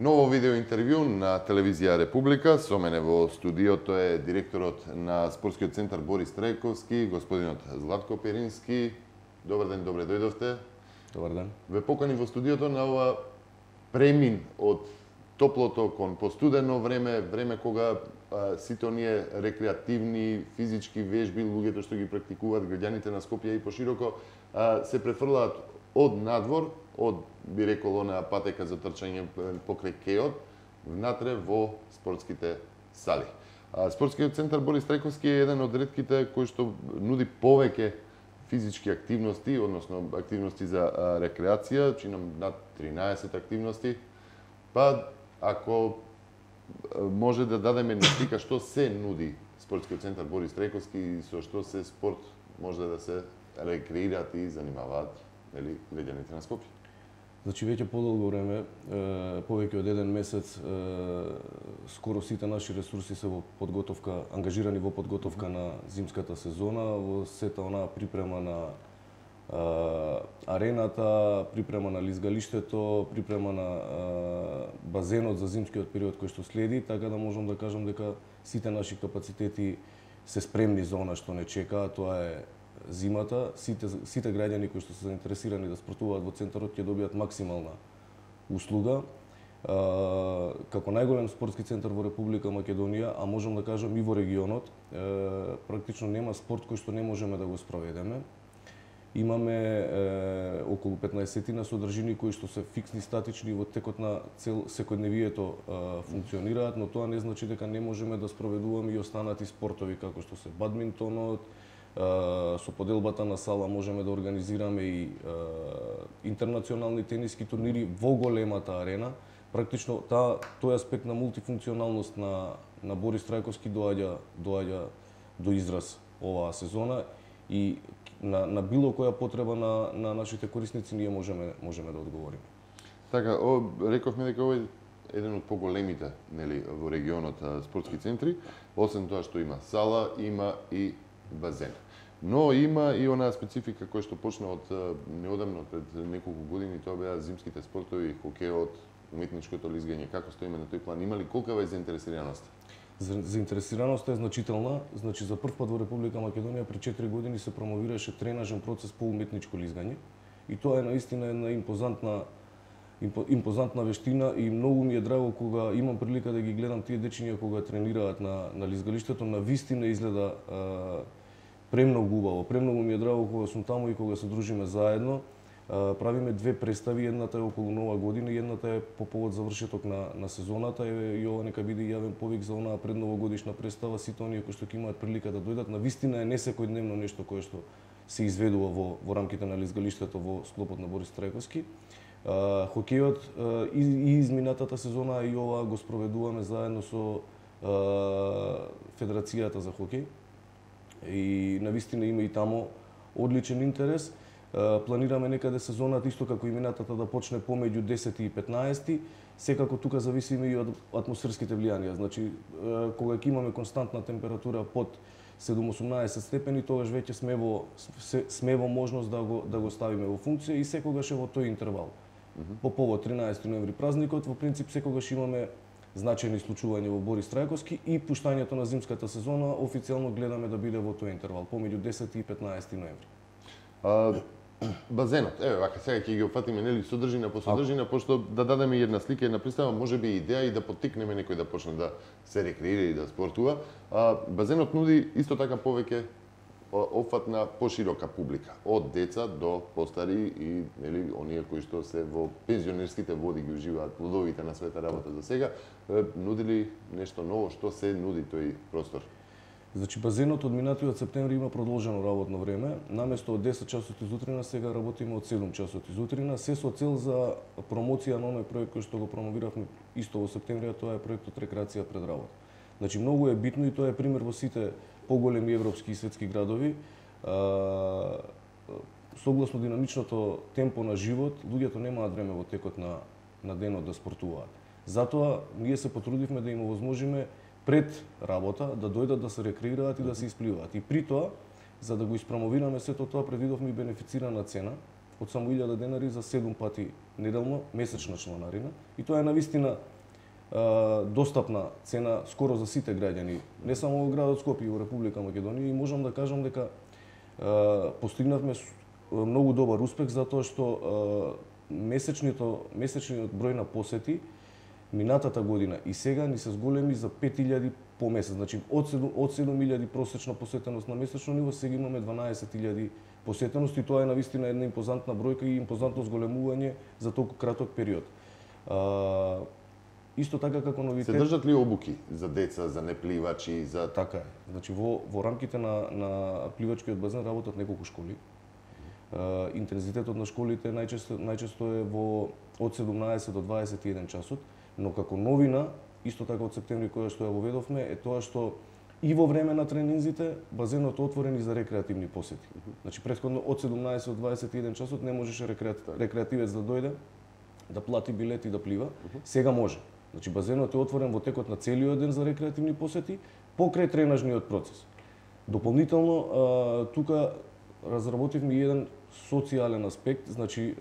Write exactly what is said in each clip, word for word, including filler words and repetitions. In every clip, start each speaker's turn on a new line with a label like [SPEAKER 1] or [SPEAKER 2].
[SPEAKER 1] Ново видео интервју на телевизија Република. Со мене во студиото е директорот на спортскиот центар Борис Трајковски, господинот Златко Перински. Добар ден, добре дојдовте.
[SPEAKER 2] Добар ден.
[SPEAKER 1] Ве покани во студиото на ова премин од топлото кон постудено време, време кога а, сите оние рекреативни, физички вежби, луѓето што ги практикуваат, граѓаните на Скопје и пошироко, а, се префрлаат од надвор, од, би рекол, онаа патека за трчање покрај кеот, внатре во спортските сали. А, спортскиот центар Борис Трајковски е еден од ретките кој што нуди повеќе физички активности, односно активности за а, рекреација, чинам над тринаесет активности. Па, ако може да дадеме една слика што се нуди спортскиот центар Борис Трајковски и со што се спорт може да се рекреираат и занимаваат, нели, граѓаните на Скопје.
[SPEAKER 2] Значи веќе подолго време, повеќе од еден месец, скоро сите наши ресурси се во подготовка, ангажирани во подготовка на зимската сезона, во сета онаа припрема на арената, припрема на лизгалиштето, припрема на базенот за зимскиот период кој што следи, така да можам да кажам дека сите наши капацитети се спремни за она што не чекаа, тоа е зимата. Сите, сите граѓани кои што се заинтересирани да спортуваат во центарот ќе добијат максимална услуга. А, како најголем спортски центар во Република Македонија, а можам да кажам и во регионот, е, практично нема спорт кој што не можеме да го спроведеме. Имаме е, околу петнаесет содржини кои што се фиксни, статични во текот на цел секојдневието е, функционираат, но тоа не значи дека не можеме да спроведуваме и останати спортови како што се бадминтонот. Со поделбата на сала можеме да организираме и е, интернационални тениски турнири во големата арена. Практично таа тој аспект на мултифункционалност на на Борис Трајковски доаѓа доаѓа до израз оваа сезона и на на било која потреба на на нашите корисници ние можеме можеме да одговориме.
[SPEAKER 1] Така, о, рековме дека овој е еден од поголемите, нели, во регионот спортски центри, освен тоа што има сала, има и базен. Но има и онаа специфика која што почна од неодамно, пред неколку години, тоа беа зимските спортови, хокеот, уметничкото лизгање. Како стоиме на тој план? Има ли колкава е заинтересираноста?
[SPEAKER 2] Заинтересираноста е значителна. Значи, за прв пат во Република Македонија пред четири години се промовираше тренажен процес по уметничко лизгање. И тоа е наистина една импозантна импозантна вештина и многу ми е драго кога имам прилика да ги гледам тие дечиња кога тренираат на на лизгалиштето, на вистина изгледа а, премногу убаво. Премногу ми е драго кога сум таму и кога се дружиме заедно. А, правиме две представи, едната е околу Нова година и едната е по повод завршеток на на сезоната. И ова нека биде јавен повик за онаа предновогодишна представа, сите оние кои што ќе имаат прилика да дојдат. На вистина е несекојдневно нешто кое што се изведува во во рамките на лизгалиштето во склопот на Борис Трајковски. Uh, хокејот uh, и, и изминатата сезона и ова го спроведуваме заедно со uh, Федерацијата за хокеј и навистина има и таму одличен интерес. Uh, планираме некаде сезоната исто како и минатата да почне помеѓу десети и петнаесети. Секако тука зависиме и од атмосферските влијанија. Значи uh, кога ќе имаме константна температура под седум-осумнаесет степени, тогаш веќе сме во сме во можност да го да го ставиме во функција и секогаш е во тој интервал. По повод тринаесети ноември празникот, во принцип секогаш имаме значајни случувања во Борис Трајковски и пуштањето на зимската сезона официјално гледаме да биде во тој интервал, помеѓу десети и петнаесети ноември.
[SPEAKER 1] А, базенот, еве вака сега ќе ги опфатиме, нели, содржина по содржина, пошто да дадеме една слика, една представа, можеби идеја и да поттикнеме некој да почне да се рекреира и да спортува. А, базенот нуди исто така повеќе опфат на поширока публика, од деца до постари и, нели, оние кои што се во пензионерските води ги уживаат плодовите на света работа за сега. Нуди ли нешто ново, што се нуди тој простор?
[SPEAKER 2] Значи, базенот од минатиот септември има продолжено работно време. Наместо од десет часот изутрина, сега работиме од седум часот изутрина, се со цел за промоција на оној проект кој што го промовиравме исто во септември, а тоа е проектот Рекреација пред работа. Значи, многу е битно и тоа е пример во сите поголеми европски и светски градови. А, согласно динамичното темпо на живот, луѓето немаат време во текот на на денот да спортуваат. Затоа ние се потрудивме да им овозможиме пред работа да дојдат да се рекреираат и да се испливаат. И при тоа, за да го испромовираме сето тоа, предвидовме и бенефицирана цена од само илјада денари за седум пати неделно месечна членарина и тоа е навистина достапна цена скоро за сите граѓани, не само во градот Скопје, и во Република Македонија, и можам да кажам дека постигнавме многу добар успех затоа што месечниот месечниот број на посети минатата година и сега ни се зголеми за пет илјади по месец. Значи од седум илјади просечна посетеност на месечно ниво сега имаме дванаесет илјади посетеност и тоа е навистина една импозантна бројка и импозантно зголемување за толку краток период. А, исто така како новитет.
[SPEAKER 1] Се држат ли обуки за деца, за непливачи, за
[SPEAKER 2] Така е. Значи во во рамките на на пливачкиот базен работат неколку школи. Uh, интензитетот на школите најчесто најчесто е во од седумнаесет до дваесет и еден часот, но како новина, исто така од септември која што ја воведовме, е тоа што и во време на тренинзите базенот е отворен и за рекреативни посети. Значи претходно од седумнаесет до дваесет и еден часот не можеше рекреативец да дојде, да плати билет и да плива. Сега може. Значи базенот е отворен во текот на целиот ден за рекреативни посети покрај тренажниот процес. Дополнително uh, тука разработивме еден социјален аспект, значи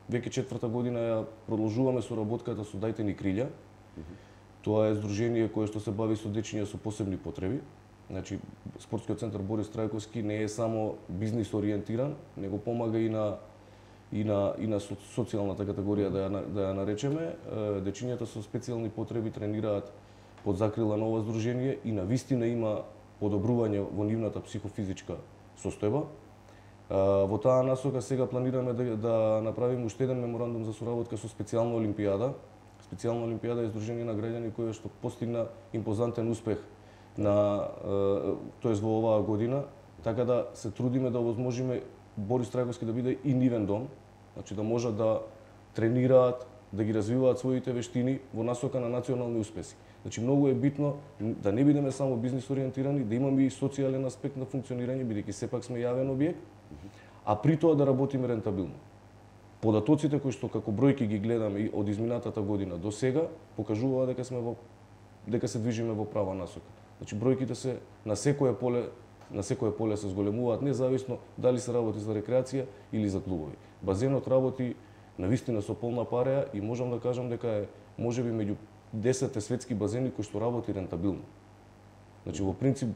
[SPEAKER 2] веќе четврта година ја продолжуваме соработката со Дајте ни крилја. Mm-hmm. Тоа е здружение кое што се бави со дечиња со посебни потреби. Значи спортскиот центар Борис Трајковски не е само бизнис ориентиран, него помага и на и на и на социјалната категорија да ја да ја наречеме. Дечињата со специјални потреби тренираат под закрила на ова здружение и навистина има подобрување во нивната психофизичка состојба. Во таа насока сега планираме да, да направиме уште еден меморандум за соработка со специјална олимпијада. Специјална олимпијада е здружение на граѓани која што постигна импозантен успех на тоест во оваа година, така да се трудиме да овозможиме Борис Трајковски да биде и нивен дом, значи да можат да тренираат, да ги развиваат своите вештини во насока на национални успеси. Значи многу е битно да не бидеме само бизнис ориентирани, да имаме и социјален аспект на функционирање, бидејќи сепак сме јавен објект, а при тоа да работиме рентабилно. Податоците кои што како бројки ги гледаме и од изминатата година до сега покажуваат дека сме во дека се движиме во права насока. Значи бројките се на секое поле на секое поле се зголемуваат независно дали се работи за рекреација или за клубови. Базенот работи навистина со полна пареја и можам да кажам дека е можеби меѓу десетте светски базени кои што работи рентабилно. Значи во принцип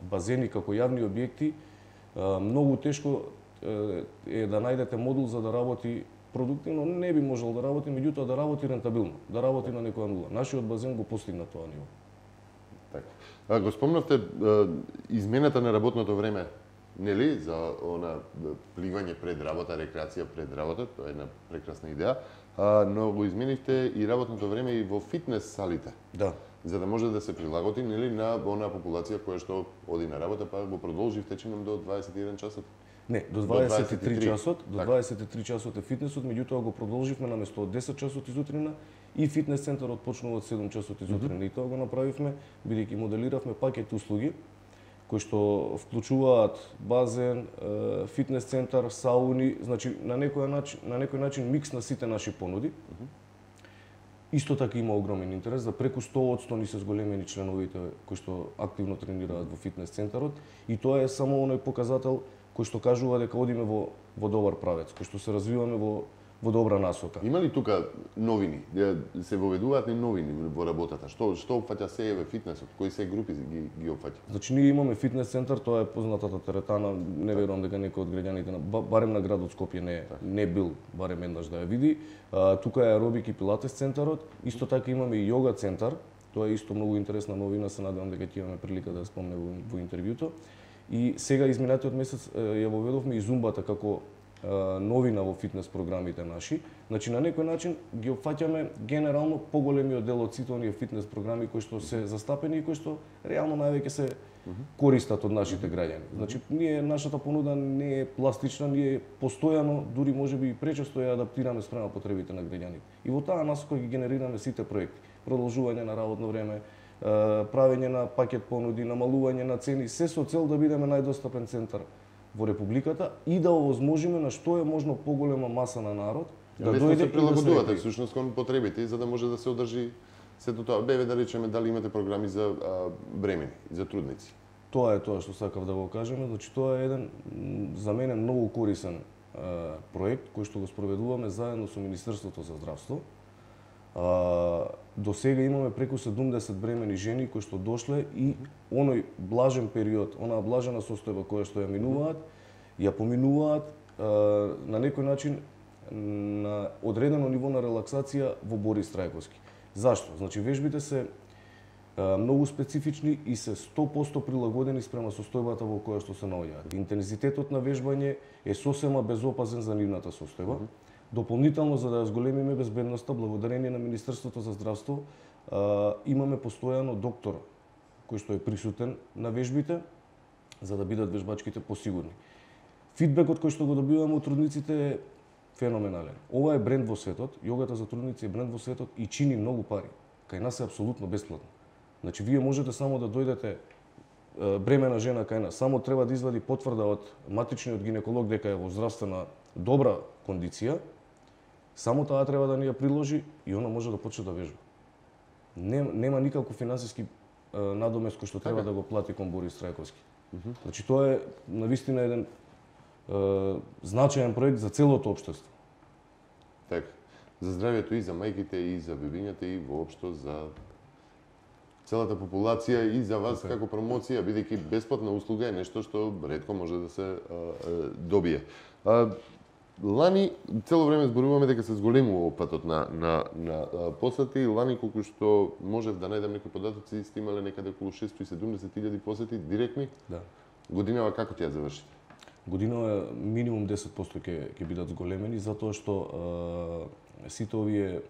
[SPEAKER 2] базени како јавни објекти многу тешко е да најдете модул за да работи продуктивно, не би можел да работи, меѓутоа да работи рентабилно, да работи на некоја нула. Нашиот базен го постигна тоа ниво.
[SPEAKER 1] Така. Го спомнавте измената на работното време, нели, за она пливање пред работа, рекреација пред работа, тоа е една прекрасна идеја, но го изменивте и работното време и во фитнес салите.
[SPEAKER 2] Да.
[SPEAKER 1] За да може да се прилагоди, нели, на онаа популација која што оди на работа, па го продолживте чинам до дваесет и еден часот.
[SPEAKER 2] Не, до дваесет и три часот, до дваесет и три часот е фитнесот, меѓутоа го продолживме наместо од десет часот изутрина и фитнес центарот почнува од седум часот изутрина. Mm-hmm. И тоа го направивме бидејќи моделиравме пакет услуги кои што вклучуваат базен, фитнес центар, сауни, значи на некој начин, на некој начин микс на сите наши понуди. Mm-hmm. Исто така има огромен интерес, за преку сто одсто ни се зголемени членовите кои што активно тренираат во фитнес центарот и тоа е само оној показател кој што кажува дека одиме во во добар правец, кој што се развиваме во во добра насока.
[SPEAKER 1] Има ли тука новини? Се воведуваат ли новини во работата? Што што опфаќа се еве фитнесот? Кои се групи ги ги опфаќа?
[SPEAKER 2] Значи ние имаме фитнес центар, тоа е познатата теретана, не верувам дека некој од граѓаните на барем на градот Скопје не не бил барем еднаш да ја види. А, тука е аеробик и пилатес центарот, исто така имаме и јога центар. Тоа е исто многу интересна новина, се надевам дека ќе имаме прилика да ја спомне во, во интервјуто. И сега изминатиот месец ја воведовме и зумбата како новина во фитнес програмите наши. Значи на некој начин ги опфаќаме генерално поголемиот дел од сите оние фитнес програми кои што се застапени и кои што реално највеќе се користат од нашите граѓани. Значи ние нашата понуда не е пластична, ние постојано, дури можеби и пречесто ја адаптираме спрема потребите на граѓаните. И во таа насока ги генерираме сите проекти. Продолжување на работно време, правење на пакет понуди, намалување на цени, се со цел да бидеме најдостапен центар во републиката и да овозможиме на што е можно поголема маса на народ да дојде
[SPEAKER 1] и да се прилагодувате
[SPEAKER 2] да се
[SPEAKER 1] всушност кон потребите за да може да се одржи сето тоа. Беве да речеме дали имате програми за а, бремени, за трудници.
[SPEAKER 2] тоа е тоа што сакав да го кажеме, значи тоа е еден за мене многу корисен проект кој што го спроведуваме заедно со Министерството за здравство. До сега имаме преку седумдесет бремени жени кои што дошле и оној блажен период, онаа блажена состојба која што ја минуваат, ја поминуваат на некој начин на одредено ниво на релаксација во Борис Трајковски. Зашто? Значи вежбите се многу специфични и се сто проценти прилагодени спрема состојбата во која што се наоѓаат. Интензитетот на вежбање е сосема безопазен за нивната состојба. Дополнително, за да ја зголемиме безбедноста, благодарение на Министерството за здравство, имаме постојано доктор кој што е присутен на вежбите, за да бидат вежбачките посигурни. Фидбекот кој што го добиваме од трудниците е феноменален. Ова е бренд во светот, јогата за трудници е бренд во светот и чини многу пари. Кај нас е апсолутно бесплатно. Значи, вие можете само да дојдете бремена жена кај нас, само треба да извади потврда од матичниот гинеколог дека е во здравствена добра кондиција, само таа треба да ни ја приложи и она може да почне да вежба. Нема, нема никаков финансиски надомест кој што треба да го плати кон Борис Трајковски. Значи, тоа е навистина еден е, значаен проект за целото општество.
[SPEAKER 1] Така. За здравјето и за мајките и за бебињата и воопшто за целата популација и за вас okay. како промоција, бидејќи бесплатна услуга е нешто што ретко може да се а, а, добие. А, лани цело време зборуваме дека се зголемува патот на на на а, посети. Лани колку што можев да најдам некои податоци, сте имале некаде околу шестоста и седумдесет илјади посети директни.
[SPEAKER 2] Да.
[SPEAKER 1] Годинава како ќе ја завршите?
[SPEAKER 2] Годинава минимум десет проценти ќе ќе бидат зголемени затоа што а, сите овие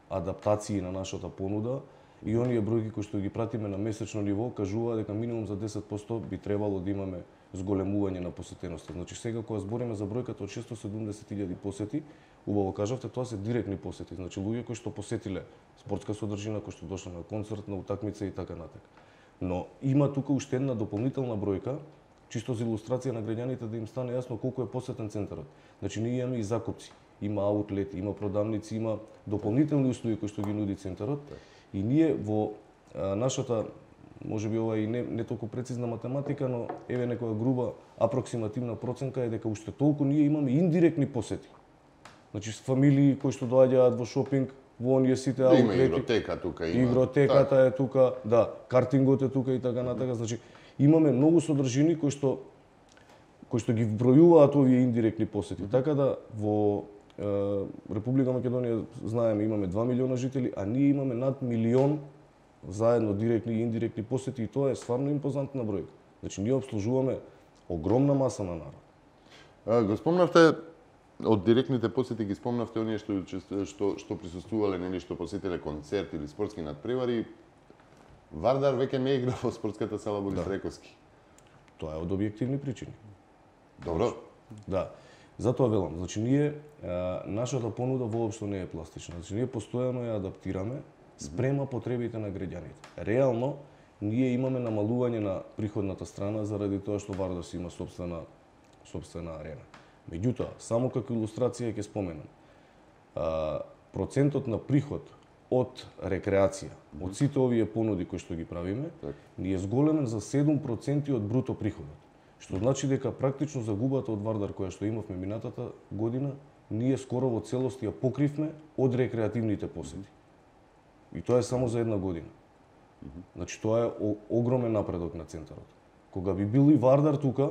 [SPEAKER 2] адаптации на нашата понуда и оние бројки кои што ги пратиме на месечно ниво кажува дека минимум за десет проценти би требало да имаме зголемување на посетеноста. Значи сега кога збориме за бројката од шестоста и седумдесет илјади посети, убаво кажавте, тоа се директни посети. Значи луѓе кои што посетиле спортска содржина, кои што дошле на концерт, на утакмица и така натака. Но има тука уште една дополнителна бројка, чисто за илустрација на граѓаните да им стане јасно колку е посетен центарот. Значи ние имаме и закупци, има аутлети, има продавници, има дополнителни услуги кои што ги нуди центарот. И ние во а, нашата, може би ова и не, не толку прецизна математика, но еве некоја груба апроксимативна проценка е дека уште толку ние имаме индиректни посети. Значи с фамилии кои што доаѓаат во шопинг, во оние сите аутлети.
[SPEAKER 1] Има игротека тука, има.
[SPEAKER 2] Игротеката так. Е тука, да, картингот е тука и така натака. Значи имаме многу содржини кои што кои што ги вбројуваат овие индиректни посети. Mm-hmm. Така да во Република Македонија, знаеме, имаме два милиона жители, а ние имаме над милион заедно директни и индиректни посети и тоа е стварно импозантна бројка. Значи ние обслужуваме огромна маса на народ.
[SPEAKER 1] А, го спомнавте од директните посети, ги спомнавте оние што што што присуствувале, нели, што посетиле концерт или спортски надпревари. Вардар веќе не игра во спортската сала Борис Трајковски.
[SPEAKER 2] Тоа е од објективни причини.
[SPEAKER 1] Добро.
[SPEAKER 2] Да. Затоа велам, значи ние а, нашата понуда воопшто не е пластична. Значи ние постојано ја адаптираме спрема потребите на граѓаните. Реално ние имаме намалување на приходната страна заради тоа што Вардас има сопствена сопствена арена. Меѓутоа, само како илустрација ќе споменам. А, процентот на приход од рекреација, од сите овие понуди кои што ги правиме, так. Ни е зголемен за седум проценти од бруто приходот. Што значи дека практично загубата од Вардар која што имавме минатата година, ние скоро во целост ја покривме од рекреативните посети. И тоа е само за една година. Значи тоа е огромен напредок на центарот. Кога би бил и Вардар тука,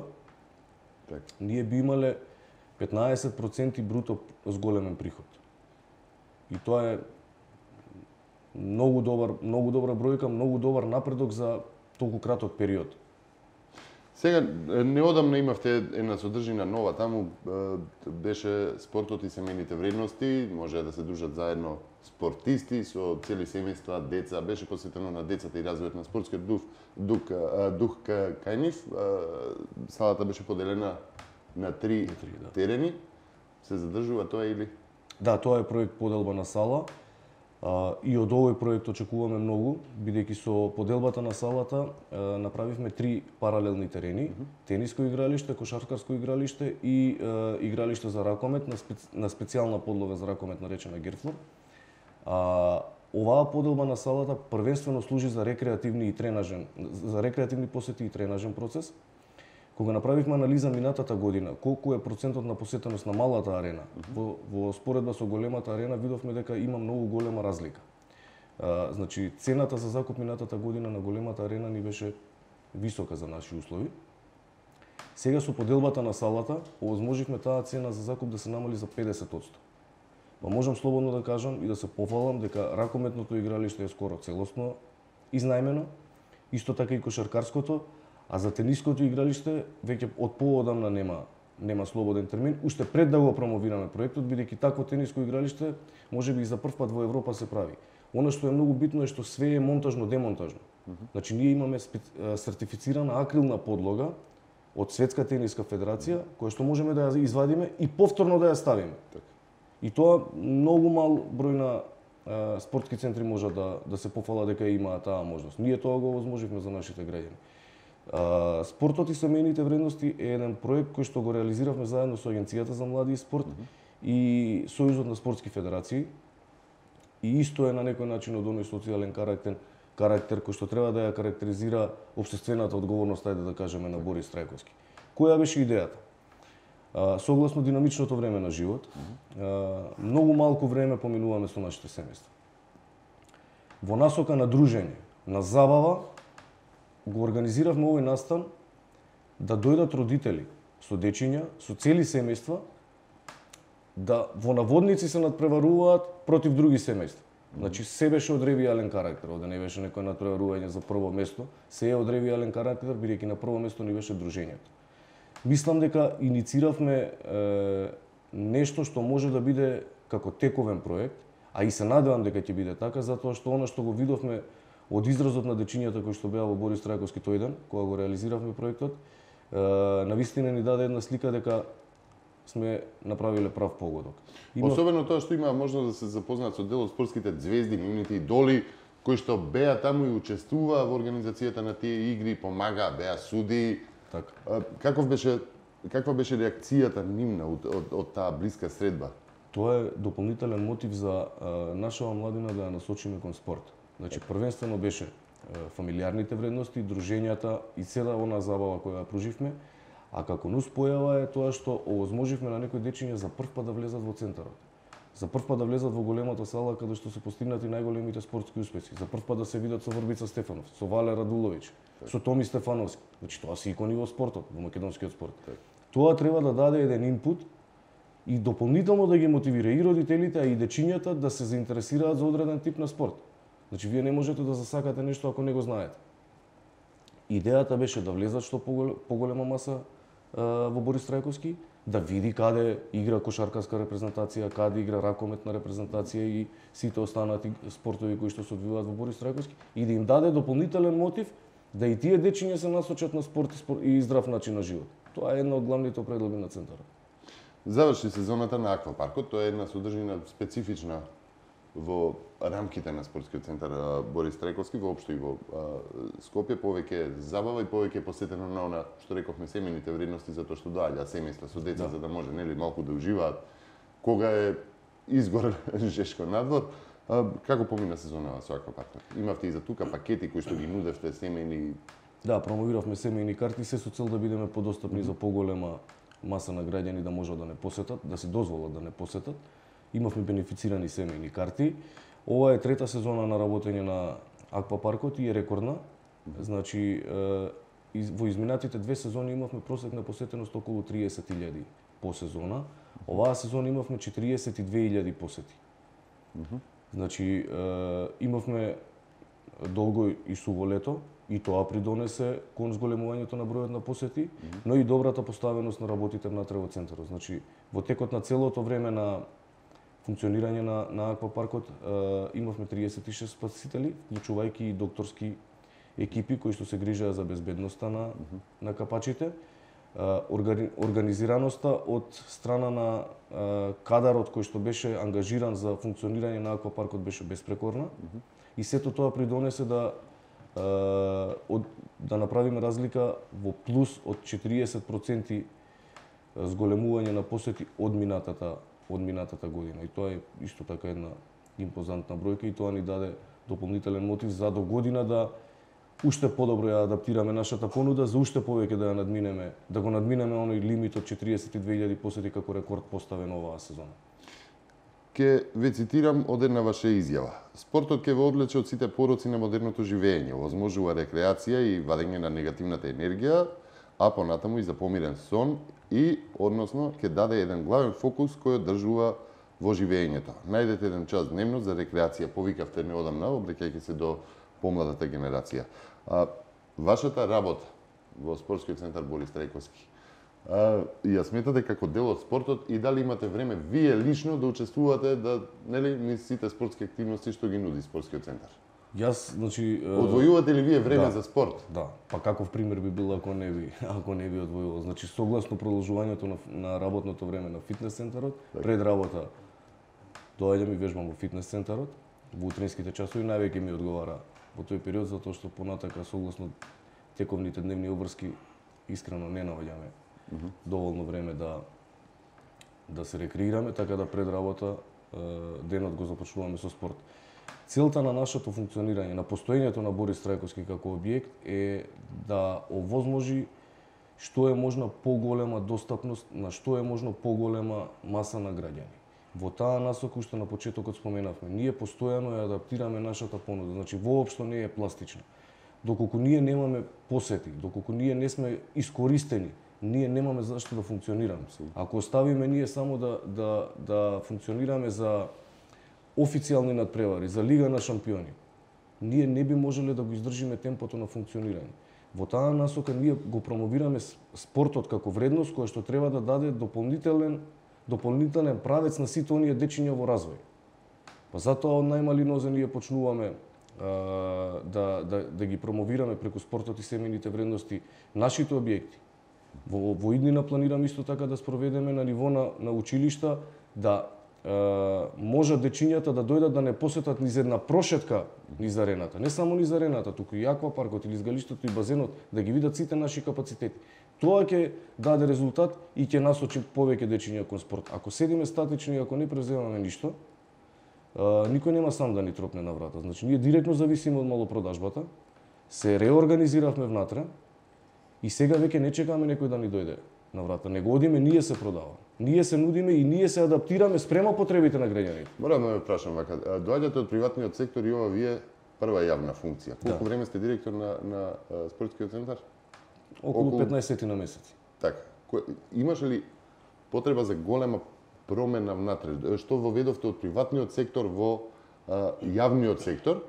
[SPEAKER 2] так. Ние би имале петнаесет проценти бруто зголемен приход. И тоа е многу добар, многу добра бројка, многу добар напредок за толку краток период.
[SPEAKER 1] Сега, неодамна имавте една содржина нова, таму беше спортот и семејните вредности, може да се дружат заедно спортисти со цели семејства, деца, беше посветено на децата и развојот на спортскиот дух, дух, дух кај нив. Салата беше поделена на три, три да. терени. Се задржува тоа или?
[SPEAKER 2] Да, тоа е проект поделба на сала. Uh, и од овој проект очекуваме многу, бидејќи со поделбата на салата uh, направивме три паралелни терени, mm-hmm. тениско игралиште, кошаркарско игралиште и uh, игралиште за ракомет на, специ... на специјална подлога за ракомет наречена герфлор. Uh, оваа поделба на салата првенствено служи за рекреативни и тренажен, за рекреативни посети и тренажен процес. Кога направивме анализа минатата година, колку е процентот на посетеност на малата арена, во, во споредба со големата арена, видовме дека има многу голема разлика. А, значи, цената за закуп минатата година на големата арена ни беше висока за наши услови. Сега со поделбата на салата, овозможивме таа цена за закуп да се намали за педесет одсто. Па можам слободно да кажам и да се пофалам дека ракометното игралиште е скоро целосно изнајмено, исто така и кошаркарското, а за тениското игралиште веќе од поодамна нема нема слободен термин, уште пред да го промовираме проектот, бидејќи такво тениско игралиште можеби и за прв пат во Европа се прави. Она што е многу битно е што све е монтажно-демонтажно. Значи ние имаме сертифицирана акрилна подлога од Светска тениска федерација, која што можеме да ја извадиме и повторно да ја ставиме. И тоа многу мал број на а, спортски центри можат да да се пофала дека имаат таа можност. Ние тоа го овозможивме за нашите граѓани. А, спортот и семејните вредности е еден проект кој што го реализиравме заедно со Агенцијата за млади и спорт mm-hmm. и Сојузот на спортски федерации. И исто е на некој начин од оној социјален карактер, карактер кој што треба да ја карактеризира општествената одговорност, ајде да кажеме, на Борис Трајковски. Која беше идејата? А, согласно динамичното време на живот, а, многу малку време поминуваме со нашите семејства. Во насока на дружење, на забава, го организиравме овој настан да дојдат родители со дечиња, со цели семејства, да во наводници се надпреваруваат против други семејства. Значи се беше од ревијален карактер, овде не беше некој надпреварување за прво место, се е од ревијален карактер, бидејќи на прво место ни беше дружењето. Мислам дека иницииравме е, нешто што може да биде како тековен проект, а и се надевам дека ќе биде така, затоа што она што го видовме од изразот на дечињата кои што беа во Борис Трајковски тој ден, кога го реализиравме проектот, е, навистина ни даде една слика дека сме направиле прав погодок.
[SPEAKER 1] Има... Особено тоа што има можност да се запознаат со дел од спортските звезди, нивните идоли, кои што беа таму и учествуваа во организацијата на тие игри, помагаа, беа суди.
[SPEAKER 2] Така.
[SPEAKER 1] Каков беше, каква беше реакцијата нивна од, од, од таа блиска средба?
[SPEAKER 2] Тоа е дополнителен мотив за а, нашава младина да ја насочиме кон спорт. Значи, првенствено беше а, фамилиарните вредности, дружењата и цела она забава која ја пруживме, а како нус појава е тоа што овозможивме на некои дечиња за прв пат да влезат во центарот. За прв пат да влезат во големата сала каде што се постигнати најголемите спортски успеси. За прв пат да се видат со Врбица Стефанов, со Вале Радуловиќ, со Томи Стефановски. Значи тоа се икони во спортот, во македонскиот спорт. Так. Тоа треба да даде еден инпут и дополнително да ги мотивира и родителите, а и дечињата да се заинтересираат за одреден тип на спорт. Значи вие не можете да засакате нешто ако не го знаете. Идејата беше да влезат што поголема маса а, во Борис Трајковски, да види каде игра кошаркарска репрезентација, каде игра ракометна репрезентација и сите останати спортови кои што се одвиваат во Борис Трајковски и да им даде дополнителен мотив да и тие дечиња се насочат на спорт и, спорт и здрав начин на живот. Тоа е една од главните определби на центарот.
[SPEAKER 1] Заврши сезоната на аквапаркот, тоа е една содржина специфична во рамките на спортскиот центар Борис Трајковски, воопшто и во Скопје, повеќе забава и повеќе посетено на она што рековме семејните вредности, затоа што доаѓа семејства со деца, да. За да може нели малку да уживаат кога е изгор жешко надвор. Како помина сезонава со аквапаркот? Имавте и за тука пакети кои што ги нудевте семејни?
[SPEAKER 2] Да, промовиравме семејни карти се со цел да бидеме подостапни mm-hmm. за поголема маса на граѓани да можат да не посетат, да се дозволат да не посетат. Имавме бенефицирани семејни карти. Ова е трета сезона на работење на аквапаркот и е рекордна. Значи, во изминатите две сезони имавме просек на посетеност околу триесет илјади по сезона. Оваа сезона имавме четириесет и две илјади посети. Значи, имавме долго и суво лето, и тоа придонесе кон зголемувањето на бројот на посети, но и добрата поставеност на работите внатре во центарот. Значи, во текот на целото време на функционирање на, на аквапаркот имавме триесет и шест спасители, вклучувајќи и докторски екипи кои што се грижеа за безбедноста на, на капачите. Органи, организираноста од страна на кадарот кој што беше ангажиран за функционирање на аквапаркот беше безпрекорна. И сето тоа придонесе да од, да направиме разлика во плюс од четириесет проценти зголемување на посети од минатата од минатата година. И тоа е исто така една импозантна бројка и тоа ни даде дополнителен мотив за до година да уште подобро ја адаптираме нашата понуда, за уште повеќе да ја надминеме, да го надминеме оној лимит од четириесет и две илјади посети како рекорд поставен оваа сезона.
[SPEAKER 1] Ке ве цитирам од една ваша изјава. Спортот ќе ве одлече од сите пороци на модерното живење, овозможува рекреација и вадење на негативната енергија, а понатаму и за помирен сон и, односно, ќе даде еден главен фокус кој одржува во живењето. Најдете еден час дневно за рекреација, повикавте неодамна, обраќајќи се до помладата генерација. А, вашата работа во спортскиот центар Борис Трајковски, а, ја сметате како дел од спортот и дали имате време вие лично да учествувате да, нели, низ сите спортски активности што ги нуди спортскиот центар?
[SPEAKER 2] Јас, значи,
[SPEAKER 1] одвојувате ли вие време
[SPEAKER 2] да,
[SPEAKER 1] за спорт?
[SPEAKER 2] Да, па каков пример би бил ако не би, ако не би одвојувал. Значи, согласно продолжувањето на, на работното време на фитнес центарот, так. Пред работа доаѓам и вежбам во фитнес центарот, во утринските часови највеќе ми одговара во тој период, затоа што понатака согласно тековните дневни обврски искрено не наоѓаме mm -hmm. доволно време да да се рекреираме, така да пред работа денот го започнуваме со спорт. Целта на нашето функционирање, на постоењето на Борис Трајковски како објект е да овозможи што е можна поголема достапност на што е можно поголема маса на граѓани. Во таа насока, уште на почетокот споменавме, ние постојано ја адаптираме нашата понуда, значи воопшто не е пластична. Доколку ние немаме посети, доколку ние не сме искористени, ние немаме зашто да функционираме. Ако оставиме ние само да, да, да функционираме за официјални надпревари, за Лига на шампиони, ние не би можеле да го издржиме темпото на функционирање. Во таа насока ние го промовираме спортот како вредност која што треба да даде дополнителен дополнителен правец на сите оние дечиња во развој. Па затоа од најмали нозе ние почнуваме а, да, да, да ги промовираме преку спортот и семејните вредности нашите објекти. Во, во иднина планирам исто така да спроведеме на ниво на, на училишта да а, можат дечињата да дојдат да не посетат низ една прошетка низ арената. Не само низ арената, туку и аквапаркот или изгалиштето и базенот, да ги видат сите наши капацитети. Тоа ќе даде резултат и ќе насочи повеќе дечиња кон спорт. Ако седиме статични и ако не преземаме ништо, никој нема сам да ни тропне на врата. Значи, ние директно зависиме од малопродажбата, се реорганизиравме внатре и сега веќе не чекаме некој да ни дојде на врата. Не го одиме, ние се продаваме. Ние се нудиме и ние се адаптираме спрема потребите на граѓаните.
[SPEAKER 1] Морам да ме прашам вака, доаѓате од приватниот сектор и ова вие прва јавна функција. Колку да. време сте директор на, на спортскиот центар?
[SPEAKER 2] Околу, Околу петнаесет на месеци.
[SPEAKER 1] Така. Имаше ли потреба за голема промена внатре? Што воведовте од приватниот сектор во а, јавниот сектор?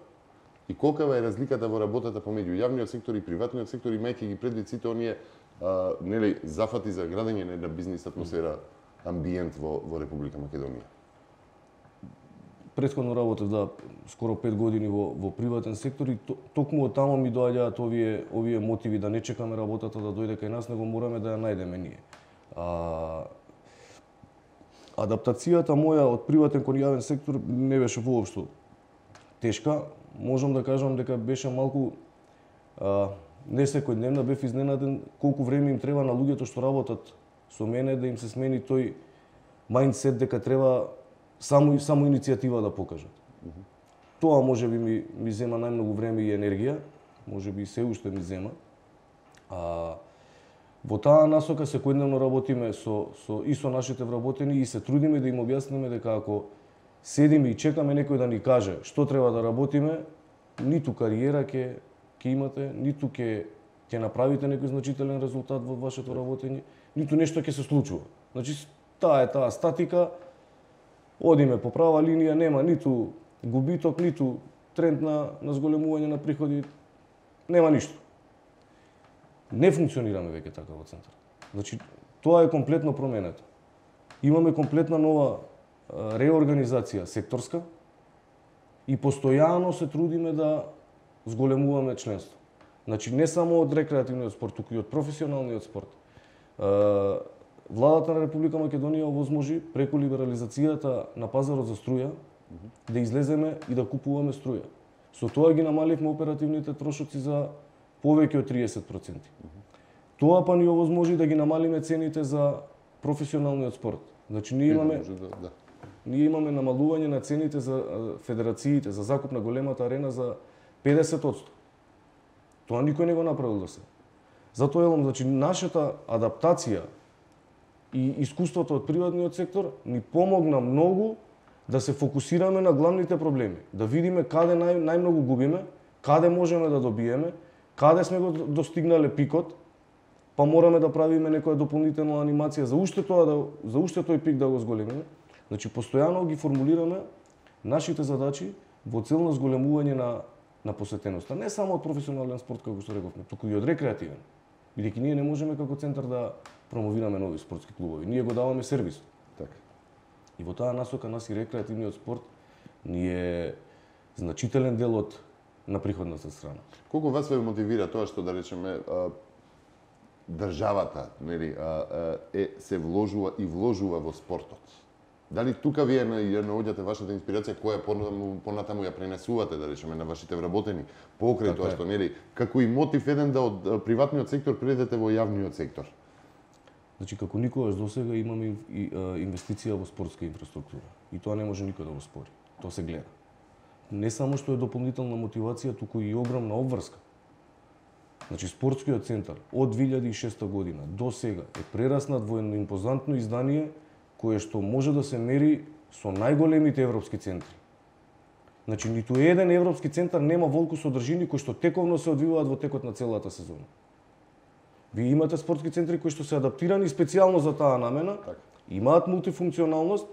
[SPEAKER 1] И колка е разликата во работата помеѓу јавниот сектор и приватниот сектор, имајќи ги предвид сите оние а, нели, зафати за градење на една бизнис атмосфера, амбиент во, во Република Македонија?
[SPEAKER 2] Претходно работев да скоро пет години во, во приватен сектор и токму од тамо ми доаѓаат овие овие мотиви да не чекаме работата да дојде кај нас, него мораме да ја најдеме ние. А, адаптацијата моја од приватен кон јавен сектор не беше воопшто тешка. Можам да кажам дека беше малку а, не секојдневна, бев изненаден колку време им треба на луѓето што работат со мене да им се смени тој мајндсет дека треба само само иницијатива да покажат. Mm -hmm. Тоа можеби ми ми зема најмногу време и енергија, можеби и се уште ми зема. А во таа насока секојдневно работиме со со и со нашите вработени и се трудиме да им објасниме дека ако седиме и чекаме некој да ни каже што треба да работиме, ниту кариера ќе ќе имате, ниту ќе ќе направите некој значителен резултат во вашето работење, ниту нешто ќе се случува. Значи таа е таа статика. Одиме по права линија, нема ниту губиток, ниту тренд на, на зголемување на приходи, нема ништо. Не функционираме веќе така во центар. Значи, тоа е комплетно променето. Имаме комплетна нова а, реорганизација секторска и постојано се трудиме да зголемуваме членство. Значи, не само од рекреативниот спорт, туку и од професионалниот спорт. А, Владата на Република Македонија овозможи преку либерализацијата на пазарот за струја да излеземе и да купуваме струја. Со тоа ги намаливме оперативните трошоци за повеќе од триесет проценти. Тоа па ни овозможи да ги намалиме цените за професионалниот спорт. Значи ние имаме
[SPEAKER 1] да, да.
[SPEAKER 2] ние имаме намалување на цените за федерациите за закуп на големата арена за педесет одсто. Тоа никој не го направил до сега. Затоа елам, значи нашата адаптација и искуството од приватниот сектор ни помогна многу да се фокусираме на главните проблеми, да видиме каде нај, најмногу губиме, каде можеме да добиеме, каде сме го достигнале пикот, па мораме да правиме некоја дополнителна анимација за уште тоа да за уште тој пик да го зголемиме. Значи постојано ги формулираме нашите задачи во цел на зголемување на на посетеноста, не само од професионален спорт како што рековме, туку и од рекреативен. Бидејќи ние не можеме како центар да промовираме нови спортски клубови. Ние го даваме сервис.
[SPEAKER 1] Така.
[SPEAKER 2] И во таа насока нас и рекреативниот спорт ни е значителен дел од на приходната страна.
[SPEAKER 1] Колку вас ве мотивира тоа што да речеме а, државата, нели, а, а, е се вложува и вложува во спортот? Дали тука вие ја наоѓате вашата инспирација која понатаму, понатаму ја пренесувате, да речеме, на вашите вработени покрај
[SPEAKER 2] така
[SPEAKER 1] тоа што, нели, како и мотив еден да од приватниот сектор предете во јавниот сектор?
[SPEAKER 2] Значи, како никогаш досега имаме и, а, инвестиција во спортска инфраструктура. И тоа не може никој да го спори. Тоа се гледа. Не само што е дополнителна мотивација, туку и огромна обврска. Значи, спортскиот центар од две илјади и шеста година до сега е прераснат во едно импозантно издание кое што може да се мери со најголемите европски центри. Значи, ниту еден европски центар нема волку содржини кои што тековно се одвиваат во текот на целата сезона. Вие имате спортски центри кои што се адаптирани специјално за таа намена,
[SPEAKER 1] так.
[SPEAKER 2] Имаат мултифункционалност,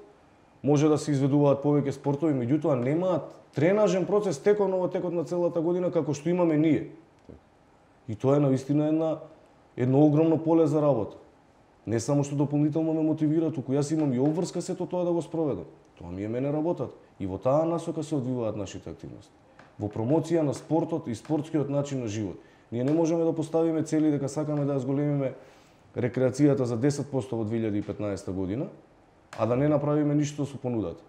[SPEAKER 2] може да се изведуваат повеќе спортови, меѓутоа немаат тренажен процес тековно во текот на целата година како што имаме ние.
[SPEAKER 1] Так.
[SPEAKER 2] И тоа е навистина една едно огромно поле за работа. Не само што дополнително ме мотивира, туку јас имам и обврска сето тоа да го спроведам. Тоа ми е мене работат. И во таа насока се одвиваат нашите активности. Во промоција на спортот и спортскиот начин на живот. Ние не можеме да поставиме цели дека сакаме да ја зголемиме рекреацијата за десет проценти во две илјади и петнаесета година, а да не направиме ништо со понудата.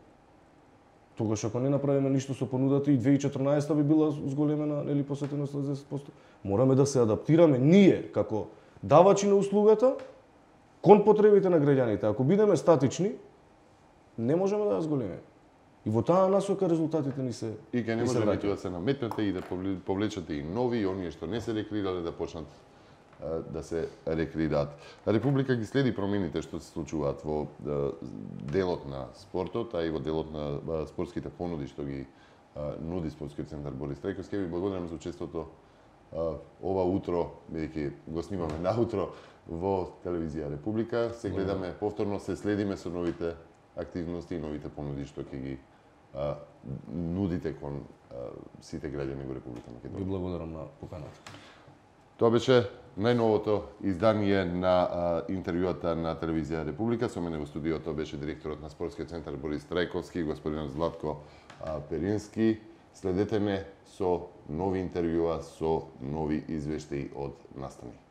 [SPEAKER 2] Тогаш ако не направиме ништо со понудата и две илјади и четрнаесета би била зголемена, нели, посетеноста за десет проценти. Мораме да се адаптираме ние како давачи на услугата кон потребите на граѓаните. Ако бидеме статични, не можеме да ја зголемиме. И во таа насока резултатите ни се
[SPEAKER 1] И ке не може ниту да се наметнете и да повлечете и нови, и оние што не се рекреирале да почнат да се рекреираат. Република ги следи промените што се случуваат во делот на спортот, а и во делот на спортските понуди што ги нуди спортскиот центар Борис Трајковски. Ви благодарам за учеството ова утро, бидејќи го снимаме наутро во телевизија Република. Се гледаме повторно, се следиме со новите активности и новите понуди што ќе ги а, нудите кон а, сите граѓани во Република Македонија.
[SPEAKER 2] Ви благодарам на поканата.
[SPEAKER 1] Тоа беше најновото издание на а, интервјуата на телевизија Република. Со мене во студиото беше директорот на спортскиот центар Борис Трајковски, господинот Златко а, Перински. Следете ме со нови интервјуа, со нови извештаи од настани.